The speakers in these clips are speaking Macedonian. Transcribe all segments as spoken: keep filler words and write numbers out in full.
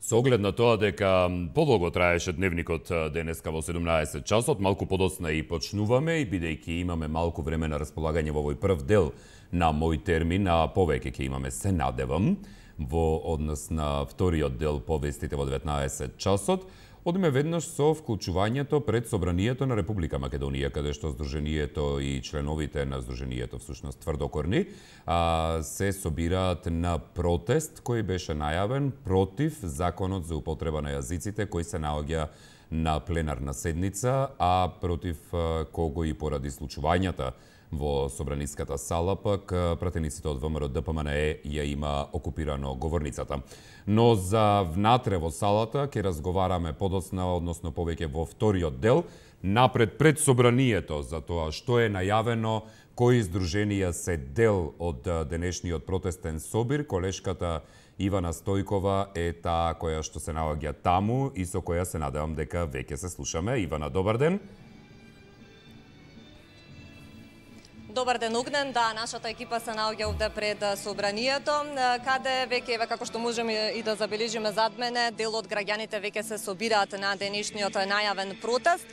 Со оглед на тоа дека подолго траеше дневникот денеска во седумнаесет часот, малку подоцна и почнуваме и бидејќи имаме малку време на располагање во овој прв дел на мој термин, а повеќе ќе имаме, се надевам, во однос на вториот дел повестите во деветнаесет часот, одиме веднаш со вклучувањето пред Собранието на Република Македонија, каде што Сдруженијето и членовите на Сдруженијето, всушност тврдокорни, се собираат на протест кој беше најавен против законот за употреба на јазиците кој се наоѓа на пленарна седница, а против кого и поради случувањата во Собраниската сала, пак пратениците од ВМРО Д П М Н Е ја има окупирано говорницата. Но за внатре во салата ќе разговараме подоцна, односно повеќе во вториот дел, напред пред Собранието за тоа што е најавено, кои здруженија се дел од денешниот протестен собир. Колешката Ивана Стојкова е таа која што се наоѓа таму и со која се надевам дека веќе се слушаме. Ивана, добар ден. Добар ден, Огнен. Да, нашата екипа се наоѓа овде пред Собранието, каде веќе, еве како што можеме и да забележиме зад мене, дел од граѓаните веќе се собираат на денешниот најавен протест.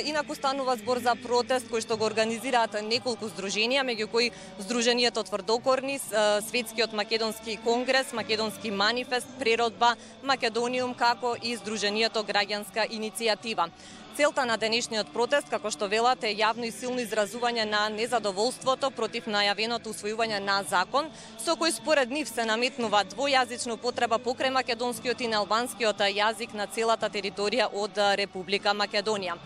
Инаку станува збор за протест кој што го организираат неколку здруженија, меѓу кои Здруженијето тврдокорни, Светскиот македонски конгрес, Македонски манифест, Преродба, Македониум, како и Здруженијето Граѓанска иницијатива. Целта на денешниот протест, како што велат, е јавно и силно изразување на незадоволството против најавеното усвојување на закон, со кој според нив се наметнува двојазична употреба покрај македонскиот и на албанскиот јазик на целата територија од Република Македонија.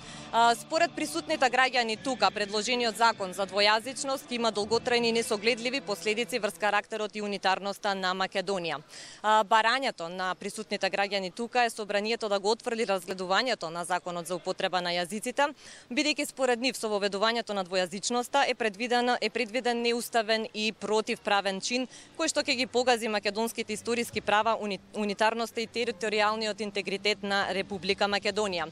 Според присутните граѓани тука, предложениот закон за двојазичност има долготрајни и несогледливи последици врз карактерот и унитарноста на Македонија. Барањето на присутните граѓани тука е Собранието да го отфрли разгледувањето на законот за употреба на јазиците, бидејќи според нив со воведувањето на двојазичноста е предвиден е предвиден неуставен и противправен чин кој што ќе ги погази македонските историски права, уни, унитарноста и територијалниот интегритет на Република Македонија.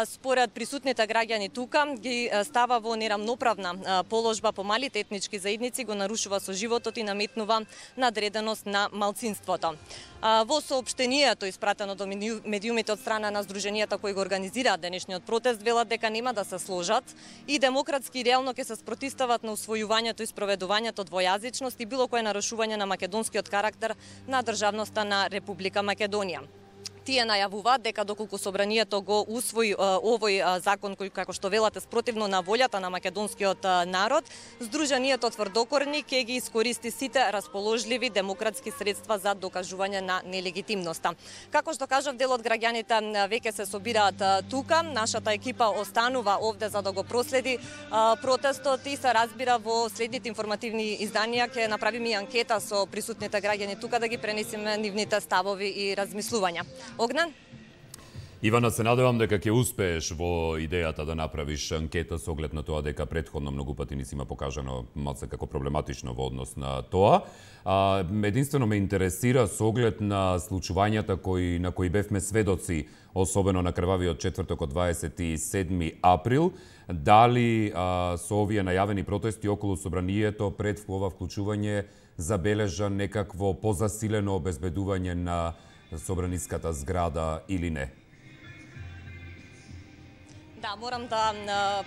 Според присутните граѓани тука ги става во нерамноправна положба по малите етнички заедници, го нарушува со животот и наметнува надреденост на малцинството. Во соопштението испратено до медиумите од страна на здруженијата кои го организираат денешниот протест, велат дека нема да се сложат и демократски и реално ќе се спротивстават на усвојувањето и спроведувањето двојазичност и било кое нарушување на македонскиот карактер на државноста на Република Македонија. Тие најавуваат дека доколку Собранието го усвои овој закон кој, како што велате, спротивно на волјата на македонскиот народ, Здруженијето тврдокорни ќе ги искористи сите расположливи демократски средства за докажување на нелегитимноста. Како што кажав, дел од граѓаните веќе се собираат тука. Нашата екипа останува овде за да го проследи протестот и се разбира во следните информативни изданија ќе направиме и анкета со присутните граѓани тука да ги пренесеме нивните ставови и размислувања. Огнен? Ивана, се надевам дека ќе успееш во идејата да направиш анкета со оглед на тоа дека претходно многу пати ни си има покажано малце како проблематично во однос на тоа. А, единствено ме интересира со оглед на случувањата кои, на кои бевме сведоци, особено на крвавиот четврток од дваесет и седми април, дали а, со овие најавени протести околу Собранието пред ова вклучување забележа некакво позасилено обезбедување на Собраниската зграда или не? Да, морам да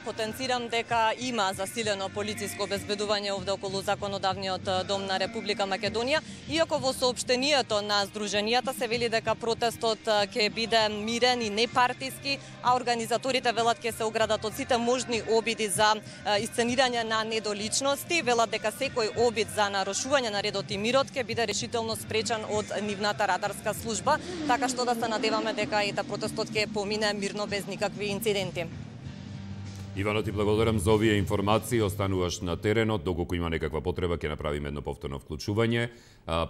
потенцирам дека има засилено полициско обезбедување овде околу законодавниот дом на Република Македонија, иако во соопштението на здруженијата се вели дека протестот ќе биде мирен и непартиски, а организаторите велат ќе се оградат од сите можни обиди за исценирање на недоличности, велат дека секој обид за нарушување на редот и мирот ќе биде решително спречен од нивната радарска служба, така што да се надеваме дека и протестот ќе помине мирно без никакви инциденти. Ивано, ти благодарам за овие информации, остануваш на теренот, доколку има некаква потреба ќе направиме едно повторно вклучување.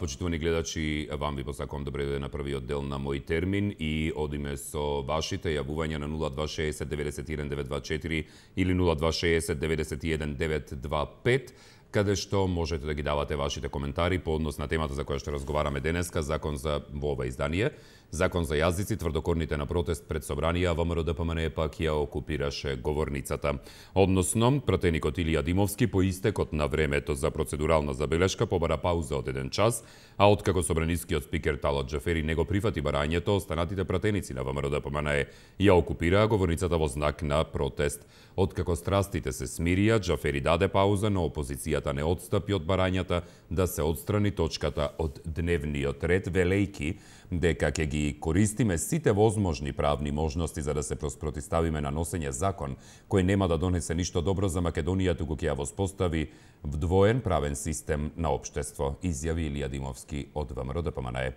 Почитувани гледачи, вам ви посакувам добре дојде на првиот дел на мој термин и одиме со вашите јавувања на нула два шеесет деветдесет и еден девет два четири или нула два шеесет деветдесет и еден девет два пет. каде што можете да ги давате вашите коментари по однос на темата за која што разговараме денеска, закон за во ова издание, закон за јазици, тврдокорните на протест пред собранија, ВМРО-ДПМН пак ја окупираше говорницата. Односно, пратеникот Илија Димовски по истекот на времето за процедурална забелешка побара пауза од еден час, а откако собранискиот спикер Талат Џафери не го прифати барањето, останатите пратеници на ВМРО-ДПМН ја окупираа говорницата во знак на протест. Откако страстите се смирија, Џафери даде пауза, но опозицијата не отстапи од барањата да се отстрани точката од дневниот ред, велејки дека ќе ги користиме сите возможни правни можности за да се протиставиме на носење закон кој нема да донесе ништо добро за Македонија, туку ќе ја воспостави вдвоен правен систем на општество, изјави Илија Димовски од ВМРО-ДПМН.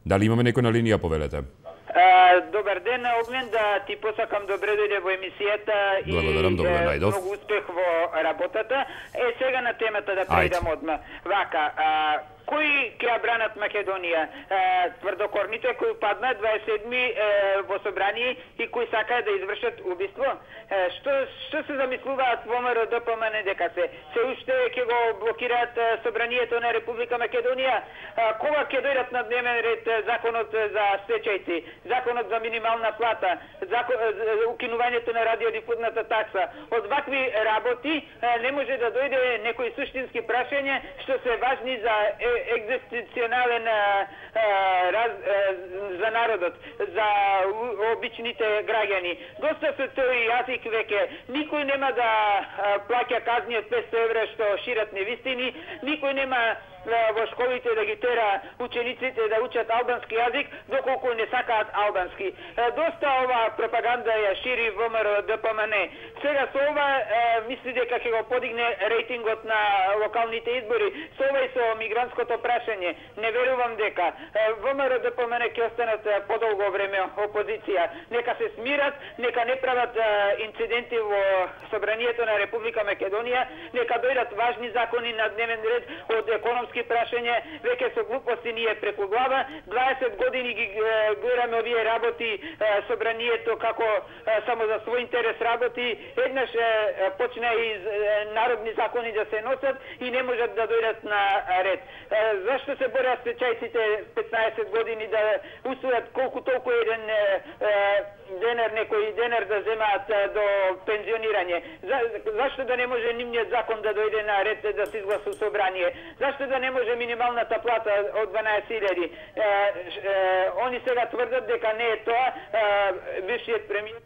Дали имаме некој на линија, повелете? Добар ден, Огнен, да ти посакам добре дојде во емисијата и многу успех во работата. Е, сега на темата да прејдам одма. Вака, а, кои ќе ја бранат Македонија? А, тврдокорните кои паднат дваесет и седми во собрание и кои сакаат да извршат убиство? А, што, што се замислуваат во ВМРО-ДПМН дека се? Се уште ќе го блокираат собранието на Република Македонија? А, кога ќе дојдат на дневен ред законот за стечајци, законот за минимална плата, закон, укинувањето на радиодифузната такса? Од вакви работи не може да дојде некои суштински прашања што се важни за екзистенцијален раз, за народот, за обичните граѓани. Доста се тој јазик веќе. Никој нема да плаќа казни од петстотини евра што шират невистини, никој нема во школите да ги тера учениците да учат албански јазик, доколку не сакаат албански. Доста ова пропаганда ја шири ВМРО-ДПМН. Сега со ова мисли дека ќе го подигне рейтингот на локалните избори, со ова и со мигрантското прашање. Не верувам дека ВМРО-ДПМН ќе останат подолго време опозиција. Нека се смират, нека не прават инциденти во собранието на Република Македонија, нека дојдат важни закони на дневен ред од економски прашање, веќе со глупости ние преку глава. дваесет години ги гледаме овие работи, собранието како само за свој интерес работи. Еднаш почна и народни закони да се носат и не можат да дојдат на ред. Зашто се борат стечајците петнаесет години да усвојат колку толку еден денер, некој денер да земаат до пензионирање? За, зашто да не може нивниот закон да дојде на ред да се изгласа собрание? Зашто да не може минималната плата од дванаесет илјади? Они сега тврдат дека не е тоа. Бившиот премиер.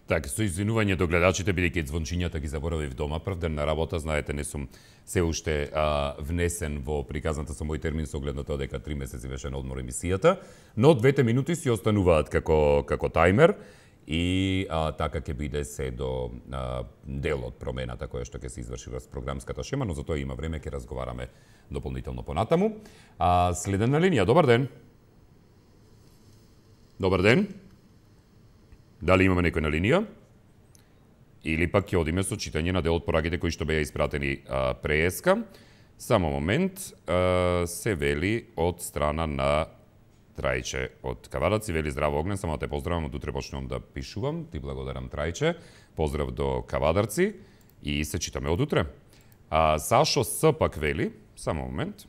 Така, со извинување до гледачите, бидејќи звончињата ги заборавив дома, прв ден на работа, знаете, не сум се уште а, внесен во приказната со мој термин со оглед на тоа дека три месеци беше на одмор емисијата, но двете минути си остануваат како, како тајмер и а, така ќе биде се до а, дел од промената која што ќе се изврши во програмската шема, но за тоа има време, ќе разговараме дополнително понатаму. А, следен на линија, добар ден. Добар ден. Дали имаме некој на линија? Или пак ќе одиме со читање на дел од пораките кои што беа испратени а, прееска. Само момент, а, се вели од страна на Трајче од Кавадаци, вели здраво Огнен, само да те поздравам, од утре почнувам да пишувам, ти благодарам Трајче, поздрав до Кавадарци и се читаме од утре. А, Сашо С пак вели, само момент,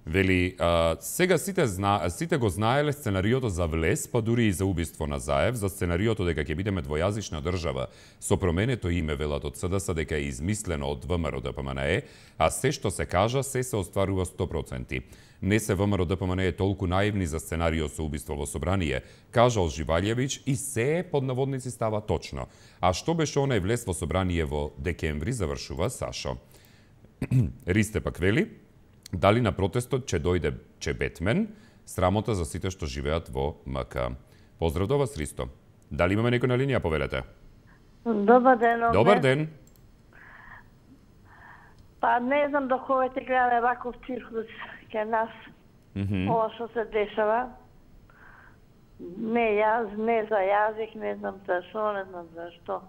вели, а, сега сите, зна, сите го знаеле сценариото за влез, па дури и за убиство на Заев, за сценариото дека ќе бидеме двојазична држава, со променето име велат од СДС дека е измислено од ВМРО-ДПМН, а се што се кажа, се се остварува сто проценти. Не се ВМРО-ДПМН е толку наивни за сценарио со убиство во собрание, кажал Живалјевиќ, и се под наводници става точно. А што беше онај влез во собрание во декември, завршува Сашо. Ристе пак вели, дали на протестот ќе дојде че Бетмен, срамота за сите што живеат во МК. Поздрав до вас, Ристо. Дали имаме некој на линија, повелете? Добар ден, Огнен. Добар ден. Па не знам до кога ќе гледаме ваков циркус ке нас. Mm -hmm. Ова што се дешава. Не јаз, не за јазик, не знам за што, не знам за што.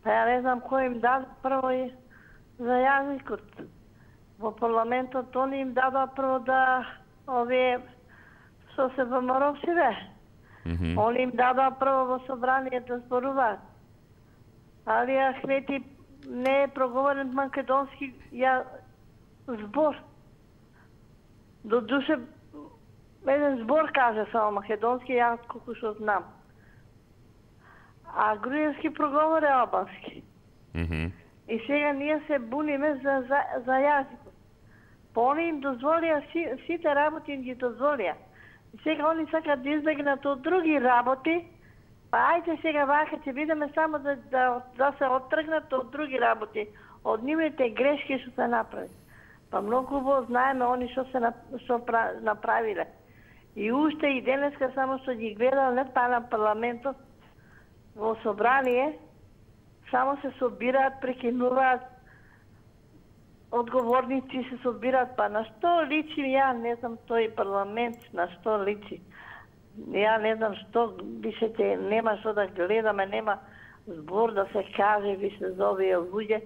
Па ја не знам кој им даде прво и за јазикот. Во парламентот они им дадоа прво да овие што се ВМРО-сиве. Mm -hmm. Они им дадоа прво во собрание да зборуваат. Али Ахмети не е проговорен македонски ја збор. До душе еден збор каже само македонски, јас колку што знам. А груевски проговори албански. Mm -hmm. И сега ние се буниме за, за, за јазикот. Па они им дозволија, си, сите работи им ги дозволија. И сега они сакат да избегнат од други работи, па ајде сега вака ќе бидеме само да, да, да се оттргнат од други работи, од нивните грешки што се направи. Па многу убаво знаеме они што се што направиле. И уште и денеска само што ги гледал не па на парламентот во собрание, само се собираат, прекинуваат, одговорници се собираат, па на што личи, ја не знам тој парламент, на што личи. Ја не знам што, више те, нема што да гледаме, нема збор да се каже, више за овие луѓе.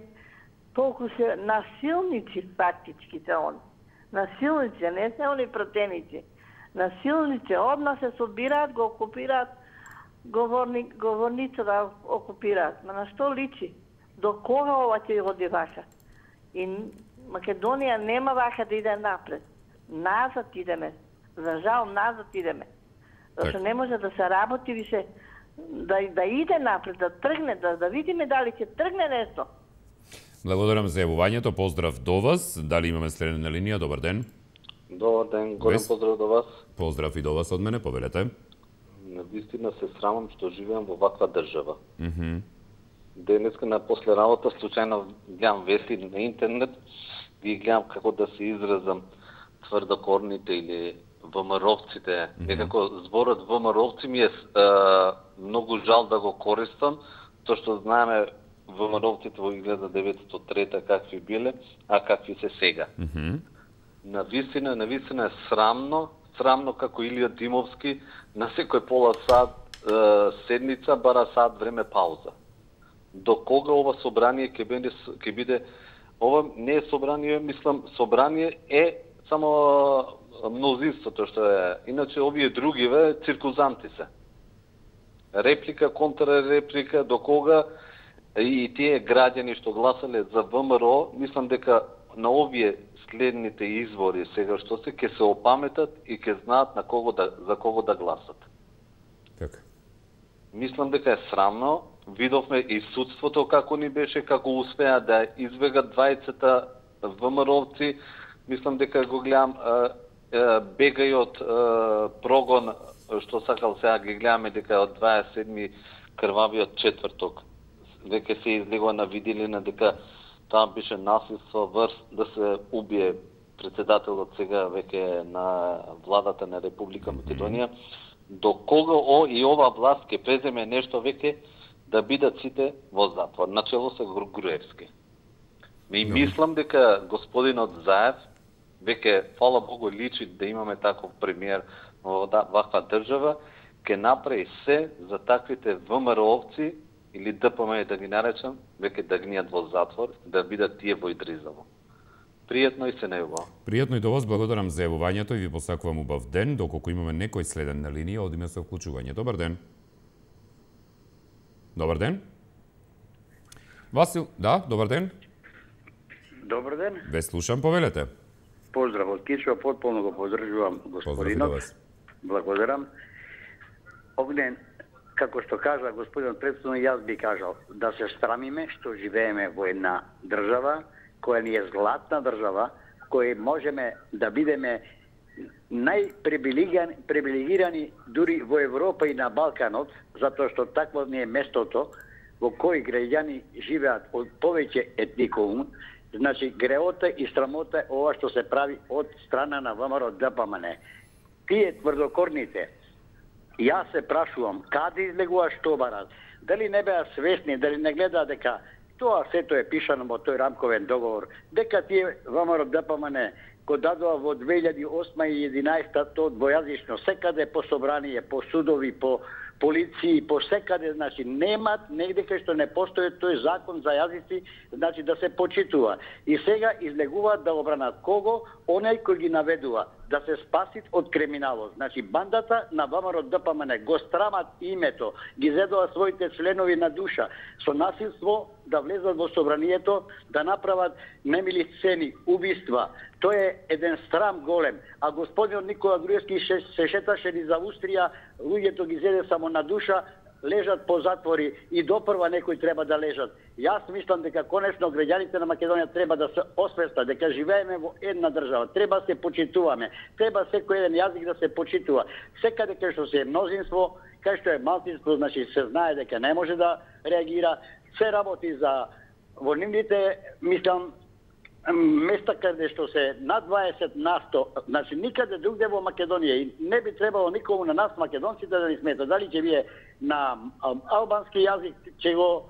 Толку се насилници фактички се они. Насилници, не се они протеници. Насилници, одма се собираат, го окупираат, говорни, говорница да окупираат. Ма на што личи? До кога ова ќе оди вака? И Македонија нема вака да иде напред. Назад идеме. За жал, назад идеме. Зашто не може да се работи више, да, да иде напред, да тргне, да, да видиме дали ќе тргне нешто. Благодарам за јавувањето, поздрав до вас. Дали имаме следене на линија? Добар ден. Добар ден, голем поздрав до вас. Поздрав и до вас од мене, повелете. Навистина се срамам што живеам во ваква држава. Mm -hmm. Денеска на после работа случајно гледам вести на интернет, ги гледам како да се изразам тврдокорните или ВМРО-вците. Mm -hmm. Некако зборот ВМРО-вци ми е а, многу жал да го користам, тоа што знаеме ВМРО-вците во илјада деветстотини и трета какви биле, а какви се сега. Mm -hmm. Навистина, навистина е срамно, срамно како Илија Димовски на секој пола сат е, седница бара сат време пауза. До кога ова собрание ќе биде ќе биде ова не е собрание, мислам собрание е само мнозинството што е. Иначе овие другиве циркузанти се. Реплика, контрареплика, до кога и тие граѓани што гласале за ВМРО, мислам дека на овие следните избори сега што се ќе се опаметат и ќе знаат на кого да за кого да гласат. Така. Мислам дека е срамно. Видовме и судството како ни беше, како успеа да избегат двајцата ВМРО-вци. Мислам дека го гледам бегај од прогон што сакал сега ги гледаме дека од дваесет и седми крвавиот четврток веќе се излегува на виделина дека таа беше насилство врз да се убие председателот сега веќе на владата на Република Македонија. До кога о и ова власт ќе преземе нешто веќе да бидат сите во затвор, начело се Груевски. Ми мислам дека господинот Заев веќе, фала Богу, личи да имаме таков премиер во ваква држава, ќе направи се за таквите ВМРО-овци или ДПМ да ги наречам, веќе да гнијат во затвор, да бидат тие во Идризово. Пријатно и се неубаво. Пријатно и до вас, благодарам за јавувањето и ви посакувам убав ден, доколку имаме некој следен на линија, одиме со вклучување. Добар ден. Добар ден. Васил, да, добар ден. Добар ден. Ве слушам, повелете. Поздрав од Кичево, потполно го поддржувам господинот. Благодарам. Огнен, како што кажа господинот претходно, јас би кажал да се срамиме што живееме во една држава која ни е златна држава, која можеме да бидеме најпривилегирани дури во Европа и на Балканот, затоа што такво не е местото во кој граѓани живеат од повеќе етникум. Значи, греота и срамота е ова што се прави од страна на ВМРО ДПМН. Тие тврдокорните, јас се прашувам, каде излегува што барат? Дали не беа свесни, дали не гледаат дека тоа сето е пишано во тој рамковен договор, дека тие ВМРО ДПМН го дадува во две илјади и осма и единаесета тоа двојазично, секаде по собрание, по судови, по полиции, по секаде, значи немат негде кај што не постои тој закон за јазици, значи да се почитува. И сега излегуваат да обранат кого? Оној кој ги наведува. да се спасит од криминалот. Значи, бандата на ВМРО Д П М Н го страмат името, ги зедоа своите членови на душа, со насилство да влезат во собранието, да направат немили сцени, убиства. Тоа е еден срам голем. А господинот Никола Груевски се шеташе низ Австрија, луѓето ги зеде само на душа, лежат по затвори и допрва некои треба да лежат. Јас мислам дека конечно граѓаните на Македонија треба да се освестат дека живееме во една држава, треба се почитуваме, треба секој еден јазик да се почитува. Секаде кај што се е мнозинство, кај што е малцинство, значи се знае дека не може да реагира, се работи за во нивните, мислам, места каде што се над дваесет на сто, значи никаде другде во Македонија и не би требало никому на нас македонците да ни смета. Дали ќе вие на албански јазик ќе го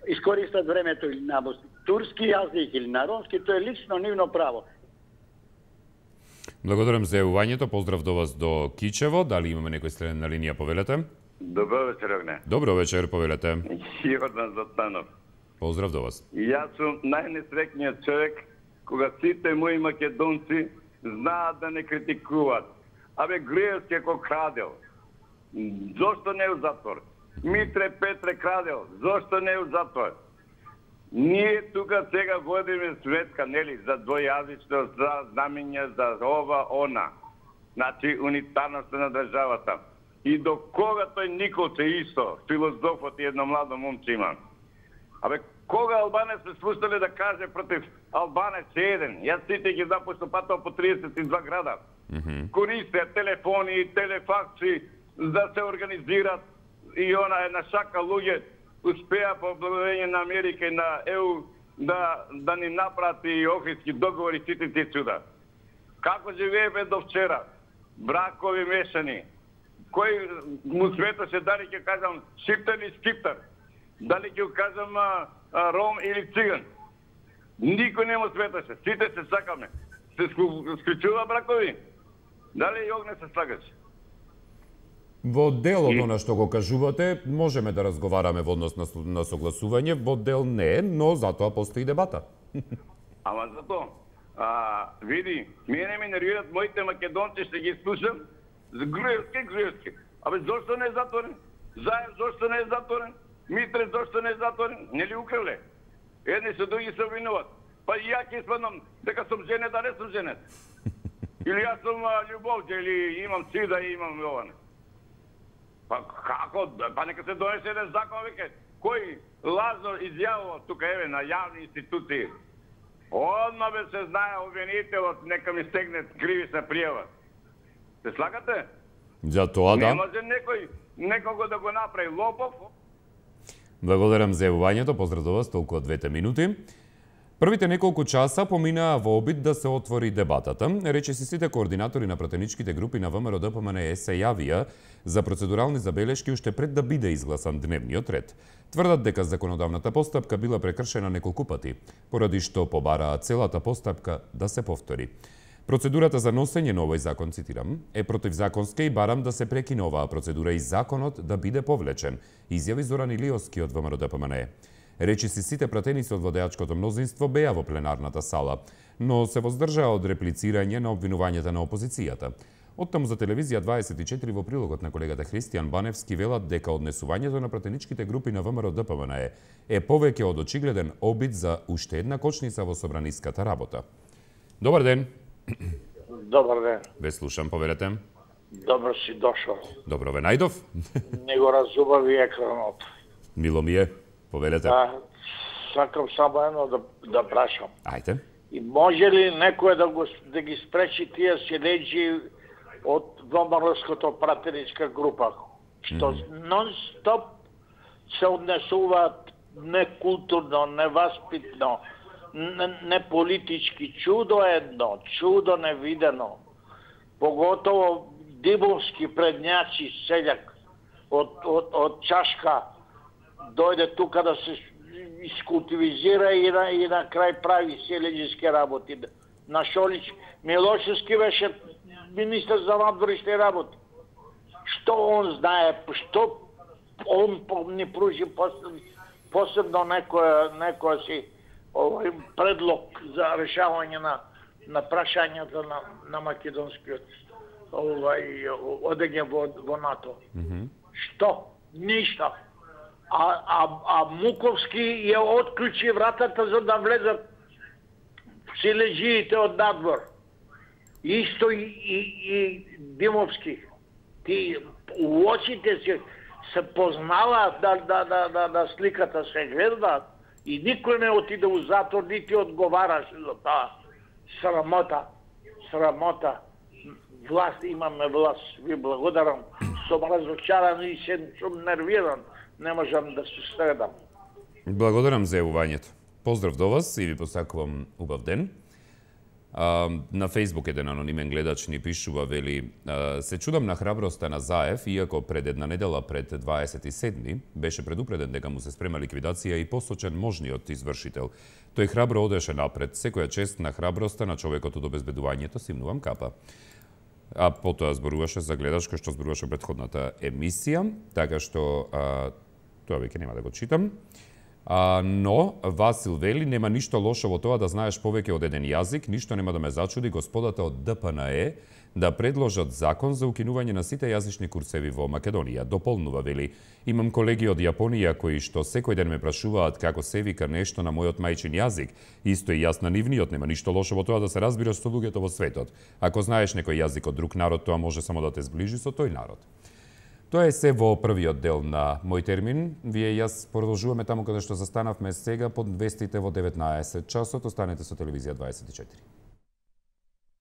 искористат времето или на турски јазик или на ромски, тоа е лично нивно право. Благодарам за јавувањето, поздрав до вас до Кичево. Дали имаме некој следен на линија, повелете? Добро вечер, Огне. Добро вечер, повелете. Јордан Златанов. Поздрав до вас. Јас сум најнесреќниот човек кога сите мои македонци знаат да не критикуваат. Абе, Груевски ако крадел, зошто не е у затвор? Митре Петре крадел, зошто не е у затвор? Ние тука сега водиме светка, нели, за двојазичност, за знамења, за ова, она. Значи, унитарноста на државата. И до кога тој Николче исто, филозофот и едно младо момче има. Абе, кога Албанец се спуштале да каже против Албанец еден? Јас сите ги знам, пошто патал по триесет и два града. Mm -hmm. Користеа телефони, телефакси, да се организират и она една шака луѓе успеа по благодарение на Америка и на Е У да, да ни напрати и охридски договори сите тие чуда. Како живееме до вчера? Бракови мешани. Кој му светаше, дали ќе кажам шиптар или скиптар? Дали ќе кажам а, а, ром или циган? Никој не му светаше. Сите се сакаме. Се склучува бракови? Дали и Огне се слагаш? Во дел од она што го кажувате, можеме да разговараме во однос на, на согласување, во дел не, но затоа постои дебата. Ама затоа, а, види, мене ме нервират моите македонци, ще ги слушам, за Груевски, Груевски. Абе, зошто не е затворен? Заев, зошто не е затворен? Митре, зошто не е затворен? Не ли украле? Едни се други се обвинуват. Па и ја ќе спаднам дека сум женет, а не сум женет. Или јас сум љубовче, или имам сида и имам оване. Па како? Па нека се донесе еден закон, веќе. Кој лажно изјавува тука, еве, на јавни институции? Одма бе се знае обвинителот, нека ми стегне кривична пријава. Се слагате? За тоа да. Не може некој, некого да го направи лопов. Благодарам за јавувањето, поздрав до вас, толку од двете минути. Првите неколку часа поминаа во обид да се отвори дебатата. Речиси сите координатори на пратеничките групи на ВМРО Д П М Н се јавија за процедурални забелешки уште пред да биде изгласан дневниот ред. Тврдат дека законодавната постапка била прекршена неколку пати, поради што побараа целата постапка да се повтори. Процедурата за носење на овој закон, цитирам, е противзаконска и барам да се прекине оваа процедура и законот да биде повлечен, изјави Зоран Илиовски од ВМРО Д П М Н. Речиси сите пратеници од владеачкото мнозинство беа во пленарната сала, но се воздржаа од реплицирање на обвинувањата на опозицијата. Оттаму за телевизија дваесет и четири во прилогот на колегата Христијан Баневски велат дека однесувањето на пратеничките групи на ВМРО Д П М Н е повеќе од очигледен обид за уште една кочница во собраниската работа. Добар ден. Добар ден. Ве слушам, поверете. Добро си дошол. Добро ве најдов. Не го разубави екранот. Мило ми е, поверете. Да, сакам само едно да, да прашам. Ајде. И може ли некој да, го, да ги спречи тие селеджи од ВМРО-ското пратеничка група, што mm -hmm. нон-стоп се однесуваат некултурно, неваспитно, не политички, чудо едно, чудо невидено. Поготово дибовски предњачи селјак од, од, од чашка дојде тука да се искултивизира и на, и на крај прави селеđiски работи. На Шолич Милошевски беше министар за надворешни работи. Што он знае, што он ни пружи посебно, посебно некоја, некоја си овој предлог за решавање на, на прашањата на, на македонскиот овај одење во, во НАТО. Mm -hmm. Што? Ништо. А, а, а Муковски ја отклучи вратата за да влезат силежиите од надвор. Исто и, и, и Димовски. Ти у очите се, се познаваат да, да, да, да, да сликата се гледа и никој не отиде у затвор, нити одговараше за таа. Срамота, срамота. Власт, имаме власт. Ви благодарам. Сум разочаран и сум нервиран. Не можам да се средам. Благодарам за јавувањето. Поздрав до вас и ви посакувам убав ден. А, на Фейсбук еден анонимен гледач ни пишува, вели, а, се чудам на храброста на Заев, иако пред една недела, пред дваесет и седми, беше предупреден дека му се спрема ликвидација и посочен можниот извршител. Тој храбро одеше напред. Секоја чест на храброста на човекот од обезбедувањето, симнувам капа. А потоа зборуваше за гледач кој што зборуваше претходната емисија, така што а, тоа веќе нема да го читам. А, но Васил вели, нема ништо лошо во тоа да знаеш повеќе од еден јазик, ништо нема да ме зачуди господата од Д П Н Е да предложат закон за укинување на сите јазични курсеви во Македонија. Дополнува, вели, имам колеги од Јапонија кои што секој ден ме прашуваат како се вика нешто на мојот мајчин јазик. Исто и јас на нивниот, нема ништо лошо во тоа да се разбираш со луѓето во светот. Ако знаеш некој јазик од друг народ, тоа може само да те зближи со тој народ. Тоа е се во првиот дел на Мој термин. Вие и јас продолжуваме таму каде што застанавме сега под вестите во деветнаесет часот. Останете со телевизија дваесет и четири.